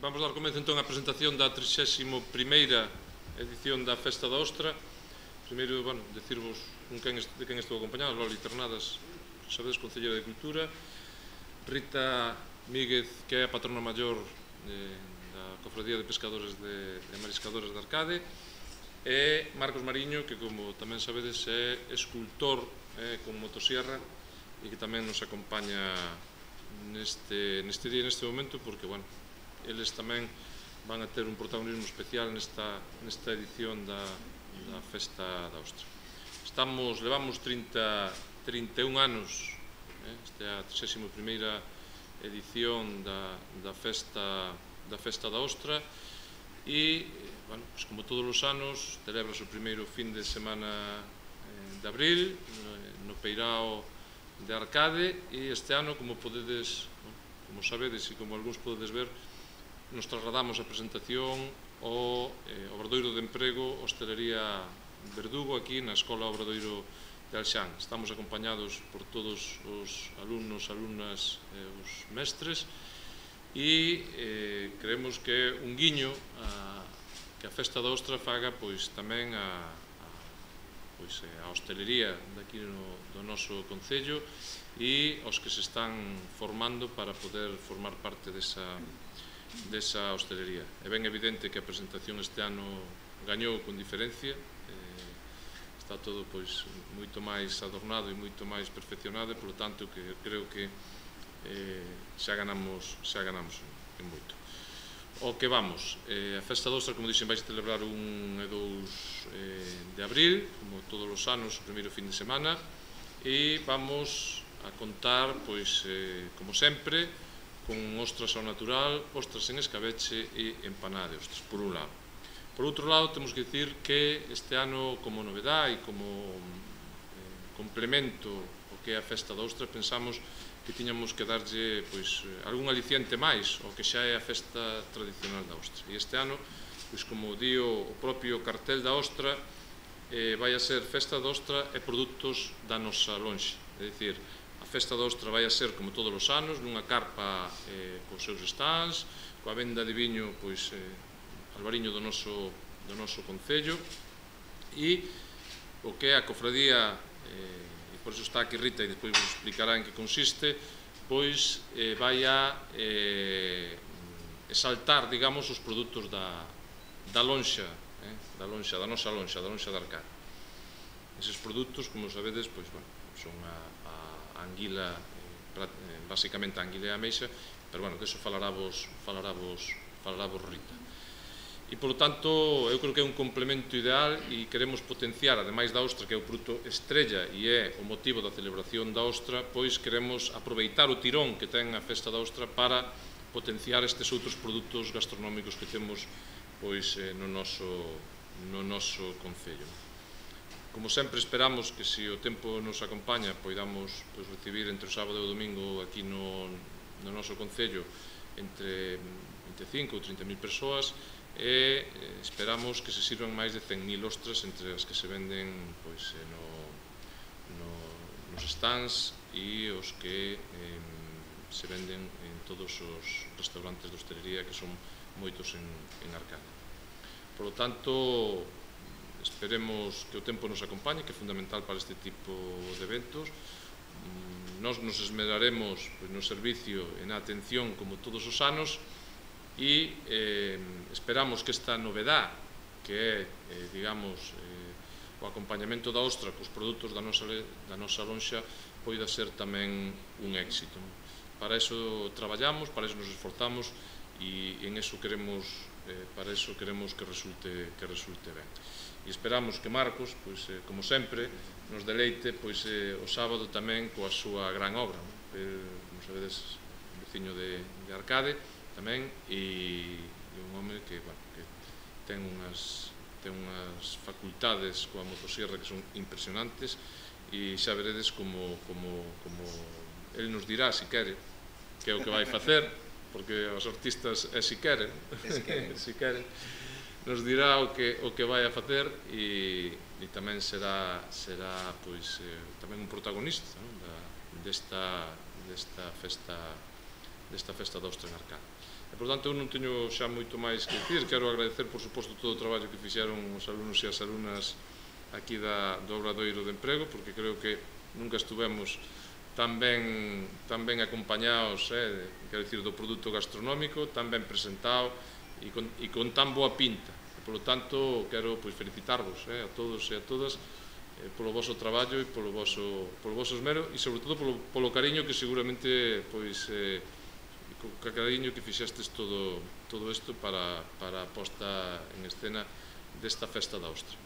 Vamos dar comezo entón á presentación da 31ª edición da Festa da Ostra. Primeiro, decirvos de quen estou acompañado, Loli Ternadas, sabedes, Concelleira de Cultura, Rita Míguez, que é a patrona maior da Cofradía de Pescadores e Mariscadores de Arcade, e Marcos Mariño, que, como tamén sabedes, é escultor con motosierra e que tamén nos acompaña neste día, neste momento, porque, eles tamén van a ter un protagonismo especial nesta edición da Festa da Ostra. Levamos 31 anos, esta é a 31ª edición da Festa da Ostra e, como todos os anos, celebrase o primeiro fin de semana de abril no Peirao de Arcade, e este ano, como sabedes e como algúns podedes ver, nos trasladamos a presentación ao Obradoiro de Emprego Hostelería Verdugo, aquí na Escola Obradoiro de Alxán. Estamos acompañados por todos os alumnos, alumnas e os mestres, e creemos que é un guiño que a Festa da Ostra faga tamén a hostelería daqui do noso concello e aos que se están formando para poder formar parte desa hostelería. É ben evidente que a presentación este ano gañou con diferencia, está todo moito máis adornado e moito máis perfeccionado, e, polo tanto, que creo que xa ganamos en moito. O que vamos, a Festa da Ostra, como dixen, vai celebrar 1 e 2 de abril, como todos os anos, o primeiro fin de semana, e vamos a contar, como sempre, con ostras ao natural, ostras en escabeche e empanada de ostras, por un lado. Por outro lado, temos que dicir que este ano, como novedade e como complemento ao que é a Festa da Ostra, pensamos que tiñamos que darlle algún aliciente máis ao que xa é a festa tradicional da Ostra. E este ano, como di o propio cartel da Ostra, vai a ser Festa da Ostra e produtos da nosa lonxa. É dicir, a Festa da Ostra vai a ser, como todos os anos, nunha carpa cos seus stands, coa venda de viño albariño do noso concello, e o que é a cofradía, e por iso está aquí Rita e despois vos explicará en que consiste, vai a exaltar, digamos, os produtos da lonxa, da nosa lonxa, da lonxa de Arcade. Eses produtos, como sabedes, son a anguila, basicamente a anguila e a ameixa, pero, de iso falarávos Rita. E, polo tanto, eu creo que é un complemento ideal e queremos potenciar, ademais da ostra, que é o produto estrella e é o motivo da celebración da ostra, queremos aproveitar o tirón que ten a Festa da Ostra para potenciar estes outros produtos gastronómicos que temos no noso concello. Como sempre, esperamos que, se o tempo nos acompaña, poidamos recibir entre o sábado e o domingo aquí no noso concello entre 25 ou 30.000 persoas, e esperamos que se sirvan máis de 100.000 ostras entre as que se venden nos stands e os que se venden en todos os restaurantes de hostelería, que son moitos en Arcade. Por lo tanto, esperemos que o tempo nos acompañe, que é fundamental para este tipo de eventos. Nos esmeraremos no servicio e na atención, como todos os anos, e esperamos que esta novedade, que é, digamos, o acompañamento da ostra cos produtos da nosa lonxa, poida ser tamén un éxito. Para iso traballamos, para iso nos esforzamos, e en iso queremos que resulte ben. E esperamos que Marcos, como sempre, nos deleite o sábado tamén coa súa gran obra. Como sabedes, veciño de Arcade tamén, e un home que ten unhas facultades coa motosierra que son impresionantes, e xa veredes como el nos dirá, se quere, que é o que vai facer, porque os artistas si queren, nos dirá o que vai a facer, e tamén será tamén un protagonista desta festa desta Festa da Ostra en Arcade. E, por tanto, eu non teño xa moito máis que dicir. Quero agradecer, por suposto, todo o traballo que fixeron os alumnos e as alumnas aquí do Obradoiro de Emprego, porque creo que nunca estuvemos tan ben acompañados, quero dicir, do produto gastronómico, tan ben presentado e con tan boa pinta. E, polo tanto, quero felicitarvos a todos e a todas polo voso traballo e polo voso esmero e, sobre todo, polo cariño que seguramente co cariño que fixestes todo isto para a posta en escena desta Festa da Ostra.